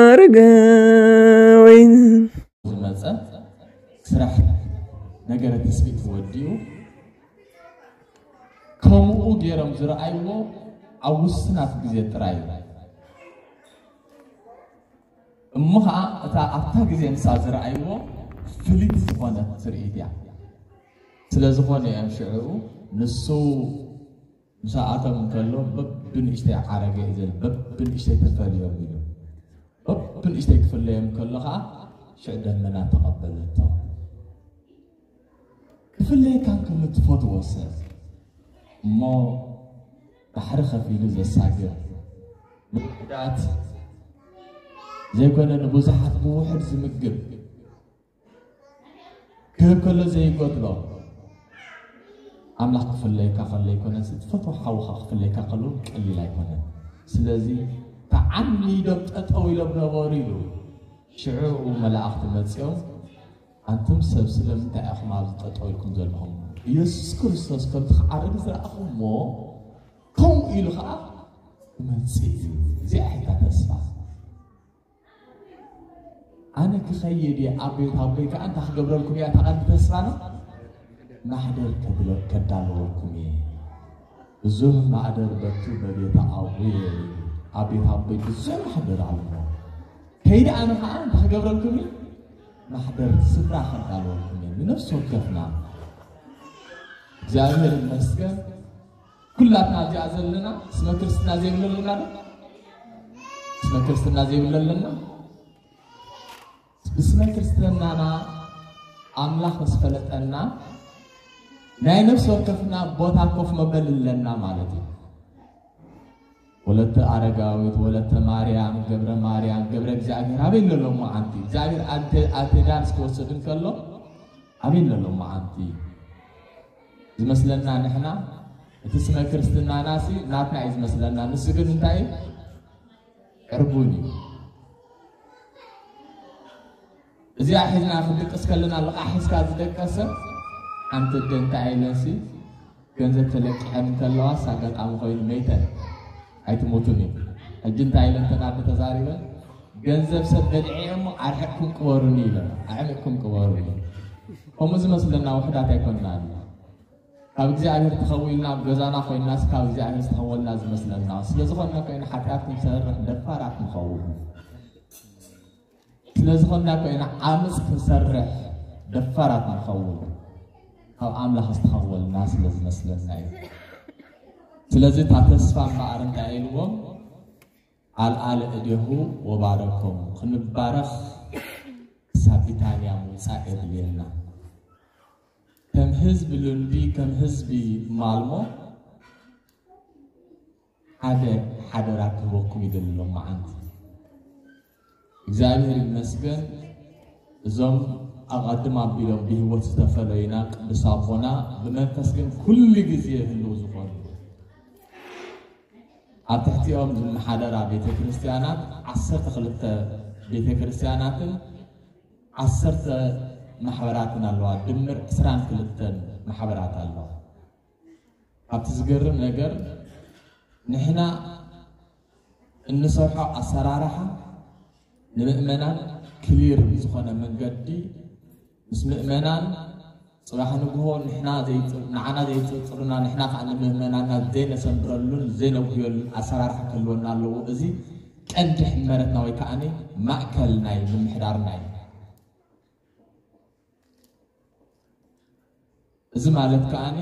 ኣረጋዊ ዝመጸ ስራሕ ነገረ ትስብእቲ ወዲኡ ከምኡ ገይሮም ዝረኣይዎ ኣብ ውስናት ግዜ ጥራይ እዩ። እሞ ኸዓ እታ ኣብታ ግዜ ንሳ ዝረኣይዎ ፍልይቲ ዝኾነት ትርኢት እያ። ስለ ዝኾነ እዮም ሽዑ ንሱ ምስኣቶም እንከሎ በብንእሽተይ ዓረገ እዩ ዝብል፣ በብንእሽተይ ተፈልዮም ኢሉ። በብንእሽተይ ክፍለዮም ከሎ ኸዓ ሽዕ ደመና ተቐበለቶ። ክፍለየካ እንከሎ ትፈትዎ ሰብ እሞ ባሕሪ ከፊሉ ዘሳግር፣ ንውሑዳት ዘይኮነ ንብዙሓት ብውሑድ ዝምግብ፣ ክህብ ከሎ ዘይጎድሎ ኣምላኽ ክፍለየካ ከሎ ኣይኮነን፣ ትፈትዎ ሓውኻ ክፍለየካ ከሎ ቀሊል ኣይኮነን። ስለዚ ተዓሚዶም ጠጠው ኢሎም ነበሩ ኢሉ። ሽዑ መላእኽቲ መጺኦም፣ ኣንቱም ሰብ ስለምንታይ ኢኹም ኣብዚ ጠጠው ኢልኩም ዘለኹም? ኢየሱስ ክርስቶስ ከምቲ ክዓርግ ዝረኣኹምዎ ከምኡ ኢሉ ኸዓ ክመጽእ እዩ። እዚኣ እያ ተስፋ። ኣነ ክኸይድ እየ ኣብ ቤት ኣቦይ ከዓ እንታይ ክገብረልኩም እያ እታ ቀንዲ ተስፋና? ማሕደር ከድለ-፣ ከዳለወልኩም እየ። ብዙህ ማዕደር በቱ በቤተ ኣቡየ፣ ኣብ ቤት ኣቦይ ብዙህ ማሕደር ኣሎ። ከይደ ኣነ ከዓ እንታይ ክገብረልኩም እየ? ማሕደር ስፍራ ከዳለወልኩም እየ። ንነፍሲ ወከፍና እግዚኣብሔር ይመስገን። ኩላትና እዚኣ ዘለና ስመ ክርስትና ዘይብለልና ዶ? ስመ ክርስትና ዘይብለልና? ብስመ ክርስትናና ኣምላኽ ምስ ፈለጠና ናይ ነፍሲ ወከፍና ቦታ ኮፍ መበሊ ኣለና ማለት እዩ። ወለተ ኣረጋዊት፣ ወለተ ማርያም፣ ገብረ ማርያም፣ ገብረ እግዚኣብሔር ኣበይ ኣለሎ መዓንቲ? እግዚኣብሔር ኣደ-፣ ኣደዳ ምስ ክወስድ እንከሎ ኣበይ ኣለሎ መዓንቲ? ዝመስለና ንሕና እቲ ስመ ክርስትናና ሲ ናትና እዩ ዝመስለና። ንሱ ግን እንታይ እዩ? ዕርቡን እዩ። እዚኣ ሒዝና ክንድቅስ ከለና ልቓሕ ሒዝካ ዝደቀሰ ሓንቲ ኣደ እንታይ ኢለንሲ ገንዘብ ተለቂሐን እንከለዋስ ኣጋጣሚ ኮይኑ መይተን ኣይትሞቱን እዩ። ሕጂ እንታይ ኢለን ተን ኣደ ተዛሪበን ገንዘብ ሰብ በሊዐ እሞ ኣርሒቕኩም ቅበሩኒ ኢለን ኣዕሚቕኩም ቅበሩኒ። ከምኡ ዝመስለና ውሕዳት ኣይኮንናን። ካብ እግዚኣብሔር ተኸዊልና ኣብ ገዛና ኮይንናስ ካብ እግዚኣብሔር ዝተኸወልና ዝመስለና። ስለ ዝኾንና ኮይና ሓጢኣት ክንሰርሕ ደፋራት ንኸውን። ስለ ዝኾንና ኮይና ዓመፅ ክንሰርሕ ደፋራት ንኸውን። ካብ ኣምላኽ ዝተኸወልና ስለ ዝመስለና እዩ። ስለዚ እታ ተስፋ እምበኣር እንታይ ኢልዎም? ኣልዓለ እዴሁ ወባረኮም። ክንባረኽ ክሳብ ቢታንያ ምውፃእ የድልየና። ከም ህዝቢ ሉንዲ፣ ከም ህዝቢ ማልሞ ሓደ ሓደራ ክህበኩም ይደሊ ሎመዓንቲ። እግዚኣብሔር ይመስገን፣ እዞም ኣቐድም ኣቢሎም ብህይወት ዝተፈለዩና ቅዱስ ኣቦና ብመንፈስ ግን ኩሉ ግዜ ህልው ዝኾኑ፣ ኣብ ትሕቲኦም ዝመሓደራ ቤተ ክርስቲያናት ዓሰርተ ክልተ ቤተ ክርስቲያናትን ዓሰርተ ማሕበራትን ኣለዋ። ድምር ዕስራን ክልተን ማሕበራት ኣለዋ። ኣብቲ ዝገርም ነገር ንሕና እንሰርሖ ኣሰራርሓ ንምእመናን ክሊር ብዝኾነ መንገዲ ምስ ምእመናን ጽባሕ ንግሆ ንሕና ዘይጽ-፣ ንዓና ዘይጽርጽሩና ንሕና ከዓ ንምእመናና ዘይነሰምረሉን ዘይነጉህየሉን ኣሰራርሓ ክህልወና ኣለዎ። እዚ ቀንዲ ሕመረትና ወይ ከዓ ማእከል ናይ ምምሕዳርና እዩ። እዚ ማለት ከዓኒ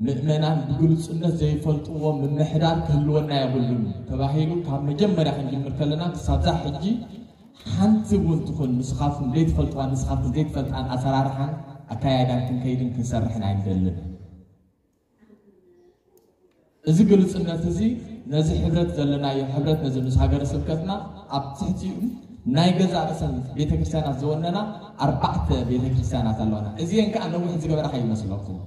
ምእመናን ብግልጹነት ዘይፈልጥዎ ምምሕዳር ክህልወና የብሉን ተባሂሉ ካብ መጀመርያ ክንጅምር ከለና ክሳብዛ ሕጂ ሓንቲ እውን ትኹን ንስኻትኩም ዘይትፈልጥዋን ንስኻትኩም ዘይትፈልጣን ኣሰራርሓን ኣካያይዳን ክንከይድን ክንሰርሕን ኣይንደልን። እዚ ግልጽነት እዚ ነዚ ሕብረት ዘለናዮ ሕብረት ነዚ ምስ ሃገረ ስብከትና ኣብ ትሕቲኡ ናይ ገዛእ ርእሰን ቤተክርስትያናት ዝወነና ኣርባዕተ ቤተክርስትያናት ኣለዋና። እዚአን ከዓ ነዊሕ ዝገበራ ከይመስለኩም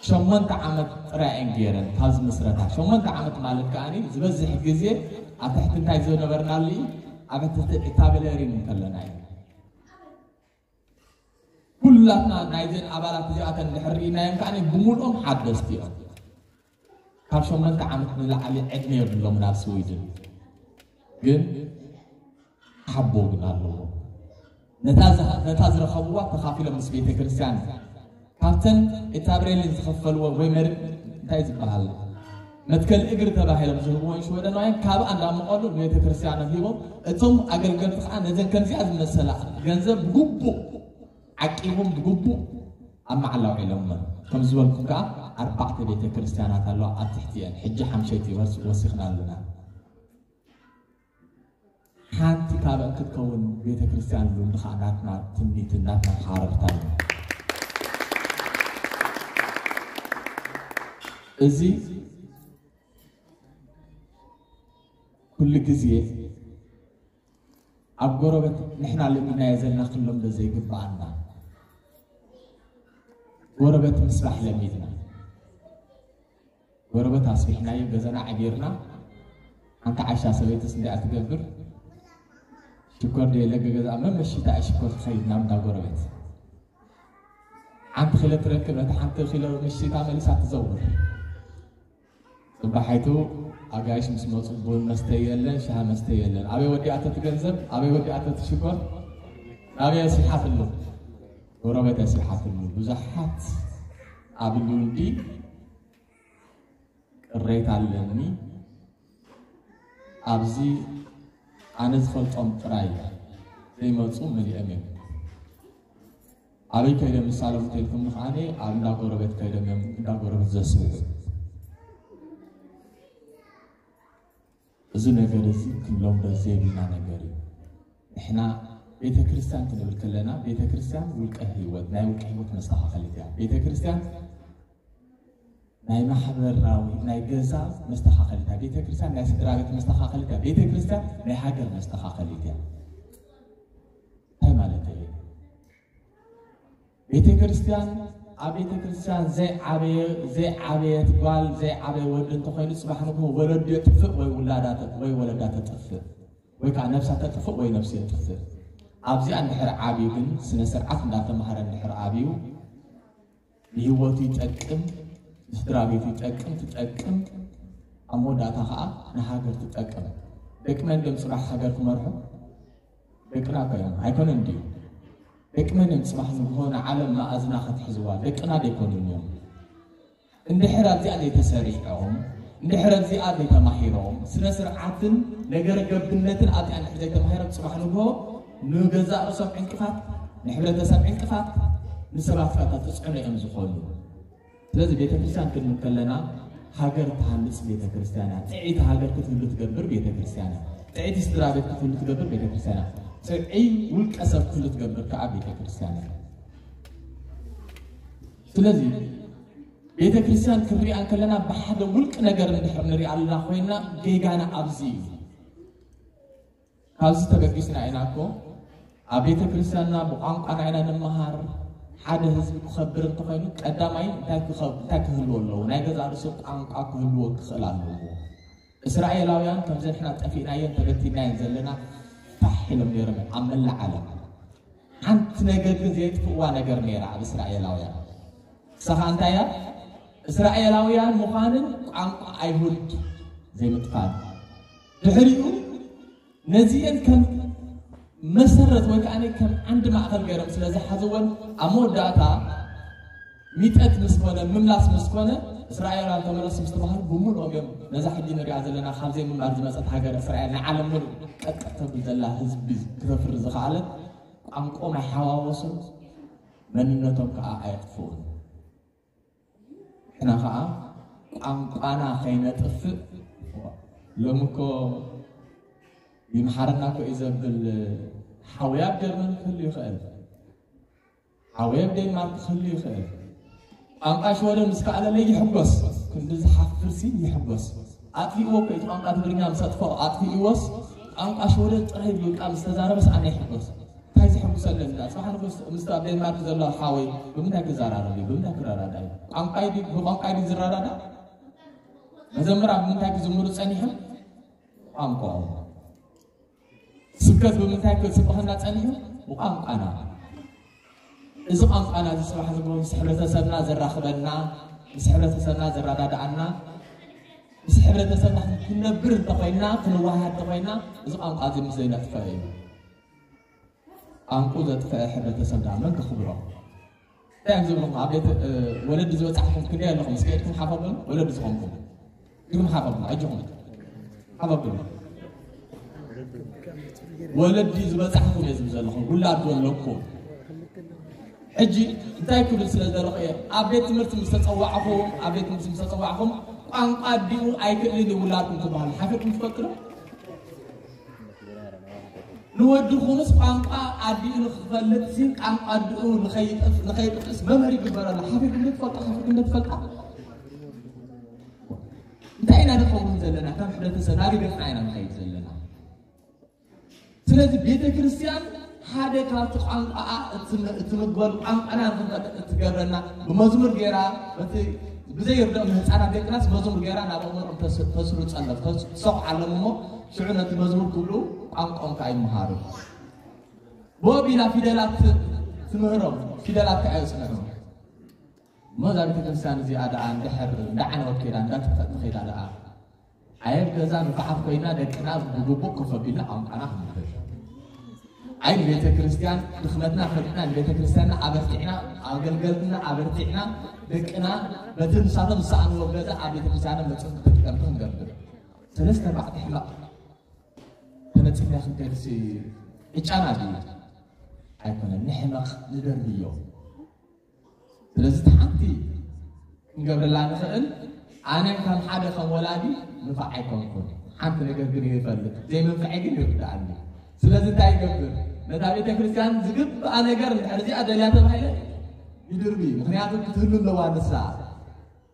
ሸሞንተ ዓመት ጥራይ እየን ገይረን ካብ ዝምስረታ። ሸሞንተ ዓመት ማለት ከዓኒ ዝበዝሕ ግዜ ኣብ ትሕቲ እንታይ ዝነበርናሉ እዩ? ኣብ ትሕቲ እታበለሪን እንከለና እዩ። ኩላትና ናይዘን ኣባላት እዚኣተን እንድሕር ርኢናዮም ከዓ ብሙሉኦም ሓደስቲ እዮም። ካብ ሸሞንተ ዓመት ንላዕሊ ዕድመ የብሎም ናብ ስዊድን። ግን ሓቦ ግን ኣለዎ። ነታ ዝሃ- ነታ ዝረኸብዋ ተኻፊሎም ምስ ቤተ ክርስቲያን ካብተን ኤታብሬልን ዝኸፈልዎ ወይ መር እንታይ ዝበሃል መትከል እግሪ ተባሂሎም ዝህብዎን ሽወደናውያን ካብ ኣንዳ መቐሉ ንቤተ ክርስቲያኖም ሂቦም፣ እቶም ኣገልገልቲ ከዓ ነዘን ከምዚኣ ዝመሰላ ገንዘብ ብግቡእ ዓቂቦም ብግቡእ ኣብ ማዕላ ውዒሎመን። ከም ዝበልኩም ከዓ ኣርባዕተ ቤተ ክርስቲያናት ኣለዋ ኣብ ትሕቲአን። ሕጂ ሓምሸይቲ ወስ- ወሲኽና ኣለና። ሓንቲ ካብአን ክትከውን ቤተ ክርስቲያን ሉ እንድኻ ናትና ትምኒትን ናትና ሓረርታ እዩ። እዚ ኩሉ ግዜ ኣብ ጎረበት ንሕና ለሚድናዮ ዘለና ክሎም ዘይግብኣና ጎረበት ምስራሕ ለሚድና ጎረበት ኣስቢሕናዮ ገዛና ዓጊርና ሓንቲ ዓሻ ሰበይትስ እንዲኣ ትገብር ሽኮር ደየለ ገዛ መመሽታ ሽኮር ትኸይድ ናብ እንዳ ጎረበት ሓንቲ ኪሎ ትረክብ ነቲ ሓንቲ ኪሎ ምሽታ መሊሳ ትዘውር ጽባሓይቱ ኣጋይሽ ምስ መፁ ቡን መስተ የለን ሻሂ መስተ የለን ኣበይ ወዲኣቶ ትገንዘብ ኣበይ ወዲኣቶ ትሽኮር ኣበይ ኣስቢሓትሉ ጎረበት ኣስቢሓትሉ ብዙሓት ኣብ ልውልዲ ቅሬታ ኣለኒ ኣብዚ ኣነ ዝፈልጦም ጥራይ ዘይመፁ መሊኦም እዮም ኣበይ ከይዶም ይሳለሙ ተልኩም ከዓ ኣብ እንዳ ጎረቤት ከይዶም እዮም እንዳ ጎረቤት ዘስብሑ እዚ ነገር እዚ ክንለምዶ ዘይብልና ነገር እዩ ንሕና ቤተክርስትያን ክንብል ከለና ቤተክርስትያን ውልቀ ህይወት ናይ ውልቀ ህይወት መስተኻኸሊት እያ ቤተክርስትያን ናይ ማሕበራዊ ናይ ገዛ መስተኻኸሊት እያ ቤተክርስትያን ናይ ስድራ ቤት መስተኻኸሊት እያ ቤተክርስትያን ናይ ሃገር መስተኻኸሊት እያ እንታይ ማለት እዩ ቤተክርስትያን ኣብ ቤተክርስትያን ዘይዓበየ ዘይዓበየት ጓል ዘይዓበየ ወዲ እንተኮይኑ ፅባሕ ንግሆ ወለዱ የጥፍእ ወይ ውላዳ ወይ ወለዳ ተጥፍእ ወይ ከዓ ነብሳ ተጥፍእ ወይ ነብሱ የጥፍእ ኣብዚኣ እንድሕር ዓብዩ ግን ስነ ስርዓት እንዳተማሃረ እንድሕር ዓብዩ ንህይወቱ ይጠቅም ንስድራ ቤቱ ይጠቅም ትጠቅም ኣብ መወዳእታ ከዓ ንሃገር ትጠቅም ደቂ መን ድም ፅባሕ ሃገር ክመርሑ ደቅና እኮ እዮም ኣይኮነን ድዩ ደቂ መን እዮም ፅባሕ ንግሆ ንዓለም መኣዝና ከትሕዝዋ ደቅና ደይኮኑን እዮም እንድሕር ኣብዚኣ ዘይተሰሪዖም እንድሕር ኣብዚኣ ዘይተማሂሮም ስነ ስርዓትን ነገረ ገብነትን ኣብዚኣ እንድሕር ዘይተማሂሮም ፅባሕ ንግሆ ንገዛእ ርእሶም ዕንቅፋት ንሕብረተሰብ ዕንቅፋት ንሰባት ፋታ ተፅዕኖ እዮም ዝኾኑ ስለዚ ቤተክርስትያን ክንብል ከለና ሃገር ትሃንፅ ቤተክርስትያን እያ ጥዕይቲ ሃገር ክትህሉ ትገብር ቤተክርስትያን እያ ጥዕይቲ ስድራ ቤት ክትህሉ ትገብር ቤተክርስትያን እያ ጥዕይ ውልቀ ሰብ ክትህሉ ትገብር ከዓ ቤተክርስትያን እያ ስለዚ ቤተክርስትያን ክንሪኣ ከለና ብሓደ ውልቂ ነገር እንድሕር ንሪኣ ኣለና ኮይና ጌጋና ኣብዚ እዩ ካብዚ ተበጊስና ኢና እኮ ኣብ ቤተ ክርስቲያንና ብቋንቋና ኢና ንመሃር ሓደ ህዝቢ ክኸብር እንተኾይኑ ቀዳማይ እንታይ ክኸብ- እንታይ ክህልዎ ኣለዎ ናይ ገዛ ርእሱ ቋንቋ ክህልዎ ክኽእል ኣለዎ እስራኤላውያን ከምዚ ንሕና ጠፊእናየን ተበቲናየን ዘለና ፋሕ ኢሎም ነይሮም ኣብ መላእ ዓለም ሓንቲ ነገር ግን ዘየጥፍእዋ ነገር ነይራ ኣብ እስራኤላውያን ንሳኻ እንታይ እያ እስራኤላውያን ምዃንን ቋንቋ ኣይሁድ ዘይምጥፋን ድሕሪኡ ነዚአን ከም መሰረት ወይ ከዓ ከም ዓንዲ ማእኸል ገይሮም ስለ ዝሓዝወን ኣብ መወዳእታ ሚጠት ምስ ኮነ ምምላስ ምስ ኮነ እስራኤላውያን ተመለሱ ምስ ተባሃሉ ብምሉኦም እዮም ነዛ ሕጂ ንሪኣ ዘለና ካብ ዘይምንባር ዝመፀት ሃገር እስራኤል ንዓለም ምሉእ ቀጥቀጥ ተብል ዘላ ህዝቢ ክተፍሪ ዝኸኣለት ቋንቆም ኣይሓዋወሱን መንነቶም ከዓ ኣየጥፍኡን ንሕና ከዓ ቋንቋና ከይነጥፍእ ሎሚ እኮ ይምሓረና እኮ እዩ ዘብል ሓውያ ኣብ ጀርመን ክህሉ ይኽእል ሓውያ ኣብ ዴንማርክ ክህሉ ይኽእል ቋንቋ ሽወደን ምስ ከኣለለ ይሕጎስ ክንዲ ዝሓፍርሲ ይሕጎስ ኣጥፊእዎ እኮ እቲ ቋንቋ ትግርኛ ምስ ኣጥፍኦ ኣጥፊእዎስ ቋንቋ ሽወደን ጥራይ ብቃ ምስ ተዛረበስ ኣነ ይሕጎስ እንታይ ዘሐጉሰለኒ ዳ? ጽባሕ ንግሆ ምስ ኣብ ዴንማርክ ዘሎ ሓወይ ብምንታይ ክዘራረብ እዩ? ብምንታይ ክረዳዳ እዩ? ቋንቋይ ድዩ ብቋንቋይ ድዩ ዝረዳዳ? መዘምራን ብምንታይ ክዝምሩ ጸኒሖም? ቋንቋኦም። ስብከት ብምንታይ ክስበኸና ጸኒሑ? ብቋንቋና። እዚ ቋንቋና እዚ ጽባሕ ዝግቡ ምስ ሕብረተሰብና ዘራኽበና፣ ምስ ሕብረተሰብና ዘረዳድኣና፣ ምስ ሕብረተሰብና ክንነብር እንተኾይንና፣ ክንወሃሃድ እንተኾይንና፣ እዚ ቋንቋ እዚ ምስ ዘይነጥፍአ እዩ። ቋንቋ ዘጥፍአ ሕብረተሰብ ደኣ መን ከኽብሮ? እንታይ እዮም ዝብሉኹም? ኣብ ቤት ወለዲ ዝበጻሕኩም ክንደይ ኣለኹም? እስኪ ኢድኩም ሓፍ ኣበሉ። ወለዲ ዝኾንኩም ኢድኩም ሓፍ ኣበሉ። ኣጆኹም ሓፍ ኣበሉ። ወለዲ ዝበጻሕኩም እየ ዝብል ዘለኹም፣ ውላድ ዘለኩም። ሕጂ እንታይ ክብል ስለ ዘለኹ እየ፣ ኣብ ቤት ትምህርቲ ምስ ተጸዋዕኹም፣ ኣብ ቤት ትምህርቲ ምስ ተጸዋዕኹም ቋንቋ ኣዲኡ ኣይክእልን እዩ ውላድኩም ትበሃሉ ሓፊርኩም ትፈልጡ ዶ? ንወዲ ኹኑስ ቋንቋ ኣዲኡ ንክፈልጥ ሲ ቋንቋ ኣዲኡ ንኸይጠፍ- ንኸይጥቅስ መምህር ይግበረሉ። ሓፊርኩም ዶ ትፈልጡ? ሓፊርኩም ዶ ትፈልጣ? እንታይ ኢና ንኸውን ዘለና? ከም ሕብረተሰብ ናበይ ገጽና ኢና ንኸይድ ዘለና? ስለዚ ቤተ ክርስቲያን ሓደ ካብቲ ቋንቋኣ እትም- እትምግበሉ ቋንቋና ንክንፈልጥ እትገብረና ብመዝሙር ገይራ በቲ ብዘይርድኦም ንህፃናት ደቅናስ መዝሙር ገይራ ናብ ኣእምሮኦም ተስ- ተስርፀሎም ተስ- ትሰቑዓሎም እሞ ሽዑ ነቲ መዝሙር ክብሉ ቋንቋኦም ከዓ ይመሃሩ። ብኡ ኣቢላ ፊደላት ትምህሮም፣ ፊደላት ከዓ የፅንዑ። እሞ እዛ ቤተክርስትያን እዚኣ ደኣ እንድሕር እንዳዓነወት ከይዳ እንዳጠፍአት ከይዳ ደኣ ኣየብ ገዛ ንፉዓት ኮይና ደቅና ብግቡእ ኮፍ ኣቢልና ቋንቋና ክንምህር። ኣይ ንቤተክርስትያን ድኽመትና ፈሊጥና ንቤተክርስትያንና ኣበርቲዕና ኣገልገልትና ኣበርቲዕና ደቅና በቲ ንሳቶም ዝሰኣንዎ ገዛ ኣብ ቤተክርስትያንና መፅኦም ተጠቀምቲ ክንገብር። ሰለስተ ኣርባዕተ ሕማቕ ተነፂፍና ክንከድሲ ዕጫና ድዩ? ኣይኮነን። ንሕመቕ ንደርብዮ። ስለዚ እቲ ሓንቲ ክንገብረላ ንኽእል ኣነ ከም ሓደ ከም ወላዲ ንፋዕ ኣይኮንኩን። ሓንቲ ነገር ግን ይፈልጥ ዘይመንፍዐ ግን ይርዳኣኒ። ስለዚ እንታይ ይገብር? ነታ ቤተ ክርስቲያን ዝግብኣ ነገር እንድሕር እዚኣ ደልያ ተባሂለ ይድርቢ። ምክንያቱ ክትህሉ ኣለዋ ንሳ።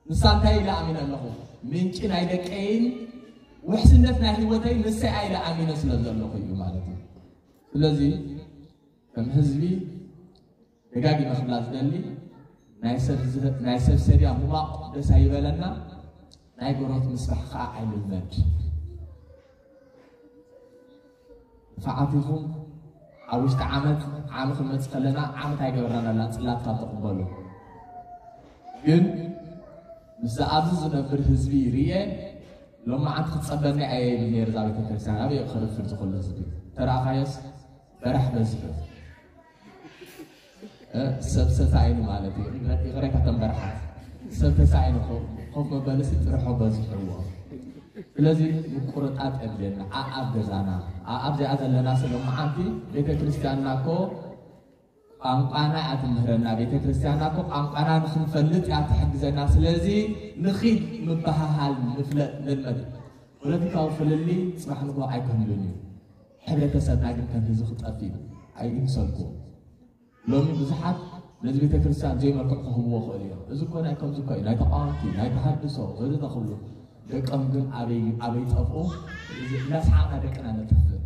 ንሳ እንታይ ኢለ ኣሚነ ኣለኹ? ምንጪ ናይ ደቀይን ውሕስነት ናይ ህይወተይ ንሰይ ኢለ ኣሚነ ስለ ዘለኹ እዩ ማለት እዩ። ስለዚ ከም ህዝቢ ደጋጊመ ክብላ ዝደሊ ናይ ሰብ ዝህ- ናይ ሰብ ሰድያ ሙማቕ ደስ ኣይበለና። ናይ ጎረቤት ምስራሕ ከዓ ኣይንልመድ። ንፋዓት ኢኹም ኣብ ውሽጢ ዓመት ዓሚ ክንመፅእ ከለና ዓመት ኣይገበርናን ኣላ ፅላት ካብ ተቕበሉ ግን ምስዚ ኣብዚ ዝነብር ህዝቢ ርየ ሎማዓንቲ ክፀበኒ ኣየ ይብል ነይሩ እዛ ቤተክርስትያን ኣበይ ክርፍድ ዝኽሉ ህዝቢ ተረኣኻዮስ በራሕ በዚሑ ሰብ ተሳኢኑ ማለት እዩ። ይቕሬታ ተንበርሓት ሰብ ተሳኢኑ ኮፍ መበልሲ ጥርሖ በዚሕዎ። ስለዚ ምቁርጣጥ የድልየና። ኣኣብ ገዛና ኣኣብ ዚኣ ዘለና ስለ መዓንቲ ቤተ ክርስቲያንና እኮ ቋንቋና እያ ትምህረና። ቤተ ክርስቲያንና እኮ ቋንቋና ንክንፈልጥ እያ ትሕግዘና። ስለዚ ንኺድ ምበሃሃል ንፍለጥ ንልመድ። ፖለቲካዊ ፍልልይ ፅባሕ ንግሆ ኣይክህሉን እዩ። ሕብረተሰብና ግን ከም ህዝቢ ክጠፍ እዩ። ኣይምሰልኩም። ሎሚ ብዙሓት ነዚ ቤተ ክርስቲያን ዘይመልክዕ ክህብዎ ክእል እዮም። እዚ እኮ ናይ ከምዚ እኮ እዩ፣ ናይ ተቃወምቲ፣ ናይ ተሃድሶ ወዘተ ክብሉ ደቀም ግን ኣበይ ኣበይ ጠፍኡ? እዚ እናሰሓቕና ደቅና ነጥፍእ።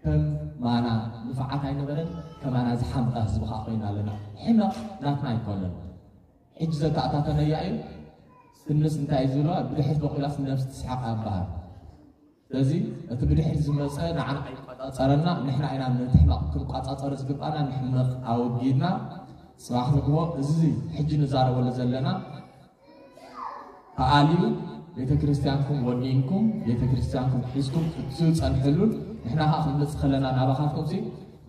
ከም ማና ንፋዓት ኣይነበረን፣ ከማና ዝሓምቐ ህዝቢ ከዓ ኮይና ኣለና። ሕመቕ ናትና ኣይኮነን። ሕጂ ዘተኣታተነያ እዩ። ስንስ እንታይ እዩ ዝብሎ? ብድሕሪት በቂላስ ነብሲ ትስሓቕ ኣበሃል። ስለዚ እቲ ብድሕሪት ዝመፀ ንዓና ኣይቆፃፀረና፣ ንሕና ኢና ነቲ ሕመቕ ክንቆፃፀሮ ዝግባና። ንሕመቕ ኣወጊድና ፅባሕ ንግሆ እዚ ሕጂ ንዛረበሉ ዘለና ተኣልዩ ቤተክርስትያንኩም ወኒንኩም ቤተክርስትያንኩም ሒዝኩም ክትፀንሕሉን ንሕና ከዓ ክንመፅእ ከለና ናባኻትኩም ሲ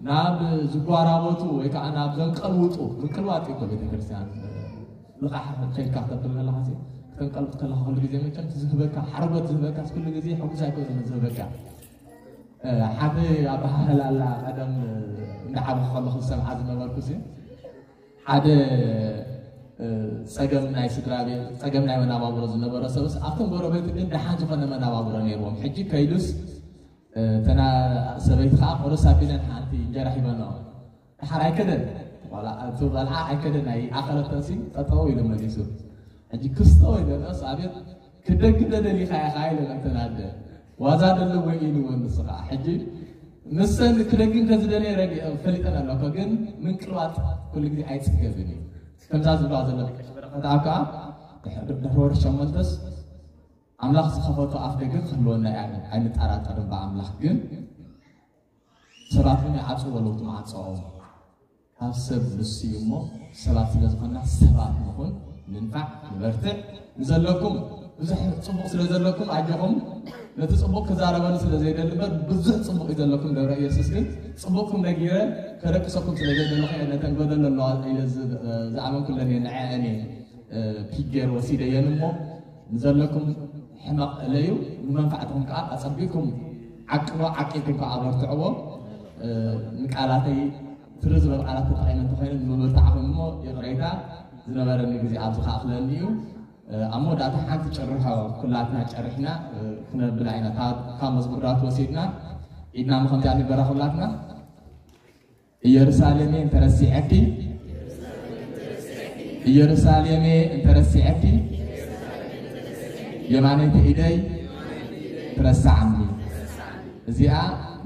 ናብ ዝጓራበቱ ወይ ከዓ ናብ ዘንቀልውጡ ምቅልዋጥ እዩ እኮ ቤተክርስትያን ልቓሕ ከይድካ ክተብል ከለኻ ሲ ክተንቀልጥ ከለኻ ኩሉ ግዜ መቸም ዝህበካ ሓርጎት ዝህበካ ኩሉ ግዜ ሕጉስ ኣይኮነን ዝህበካ ሓደ ኣበሃህላ ኣላ ቀደም እንዳዓበኹ ከለኹ ዝሰምዓ ዝነበርኩ ሲ ሓደ ፀገም ናይ ስድራ ቤት ፀገም ናይ መናባብሮ ዝነበሮ ሰብስ ኣብቶም ጎረቤቱ ግን ደሓን ዝኾነ መናባብሮ ነይርዎም። ሕጂ ከይዱስ እተና ሰበይቲ ከዓ ቁርስ ኣቢለን ሓንቲ እንጀራ ሂበንኦ። ደሓር ኣይከደን ቆልዓ ኣይከደን ኣይኣኸለተሲ ጠጠው ኢሉ መሊሱ። ሕጂ ክስቶ ኢለንኦስ ኣቤት ክደግም ደደሊኻ ኢኻ ኢለን እተን ኣደ ዋዛ ደሎ ወይ ኢልዎ ንሱ ከዓ ሕጂ ንሰን ክደግም ከዝደለየ ረዲኦ ፈሊጠን ኣለኮ ግን ምንቅልዋጥ ኩሉ ግዜ ኣይፅገብን እዩ። ከምዛ ዝብላ ዘሎ ደቂ በረኸት ኣብ ከዓ ድሕሪ ወርሒ ሸሞንተስ ኣምላኽ ዝኸፈቶ ኣፍ ደገ ክህልወና እያ ኣይንጠራጠርን ብኣምላኽ ግን ሰባት እውን ይዓፅዎ ኣለዉ እቲ መዓፅኦም ካብ ሰብ ንሱ እዩ እሞ ሰባት ስለ ዝኾንና ሰባት ንኹን፣ ንንፋዕ፣ ንበርትዕ። ንዘለኩም ብዙሕ ጽቡቕ ስለ ዘለኩም ኣጆኹም። ነቲ ጽቡቕ ክዛረበሉ ስለ ዘይደሊ እምበር ብዙሕ ጽቡቕ እዩ ዘለኩም። ደብረ ኢየሱስ ግን ጽቡቕኩም ነጊረ ከደቅሰኩም ስለ ዘይደለኹ እየ ነተን ጎደሎ ኣለዋ ኢለ ዝ-፣ ዝኣመንኩለን እየ ንዐአን እየ እ፣ ፒክ ገይረ ወሲደየን እሞ ንዘለኩም ሕመቕ እለዩ፣ ንመንፋዕትኹም ከዓ ኣጸቢቕኩም ዓቅቦ፣ ዓቂብኩም ከዓ ኣበርትዕዎ። እ፣ ንቃላተይ ትሪ ዝበል ቃላት ተጠቒመ እንተኾይነ ንምብርታዕኹም እሞ ይቕሬታ። ዝነበረኒ ግዜ ኣብዚ ከኣኽለኒ እዩ። እ፣ ኣብ መወዳእታ ሓንቲ ጭርሖ ኩላትና ጨሪሕና፣ እ፣ ክነብላ ኢና። ካብ፣ ካብ መዝሙር ዳዊት ወሲድና ኢድና ምኸምዚኣ ንግበራ ኩላትና። ኢየሩሳሌሜ እንተረሲዐኪ፣ ኢየሩሳሌሜ እንተረሲዐኪ፣ የማነይቲ ኢደይ ትረስዓኒ። እዚኣ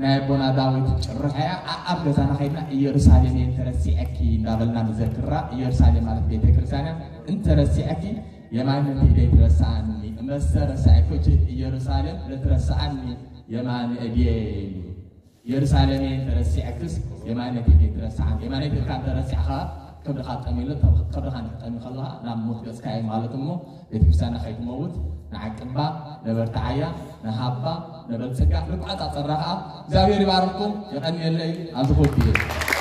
ናይ ኣቦና ዳዊት ጭርሖ እያ። ኣብ ገዛና ከይድና ኢየሩሳሌሜ እንተረሲዐኪ እንዳበልና ንዘክራ። ኢየሩሳሌም ማለት ቤተ ክርስቲያን እያ። እንተረሲዐኪ የማነይቲ ኢደይ ትረስዓኒ። እመሰ ረሳዕኩኪ ኢየሩሳሌም ለትረስዓኒ የማነ እድየ እዩ። ኢየሩሳሌም እንተረሲዐክስ የማነይቲ ኢደይ ትረስዓኒ። የማነይቲ ኢድካ እንተረሲዕካ ከብድኻ ጠሚሉ፣ ከብድኻ እንድሕር ጠሚዩ ከለኻ ናብ ሞት ገጽካ እዩ ማለት እሞ ቤተክርስትያንና ከይትመውት ንዓቅባ፣ ነበርትዓያ፣ ንሃባ፣ ነበልጽጋ፣ ንቋጻጸራ ከኣ። እግዚኣብሔር ይባርኽኩም፣ የቐንየለይ። ኣብዚ ክወድ እየ።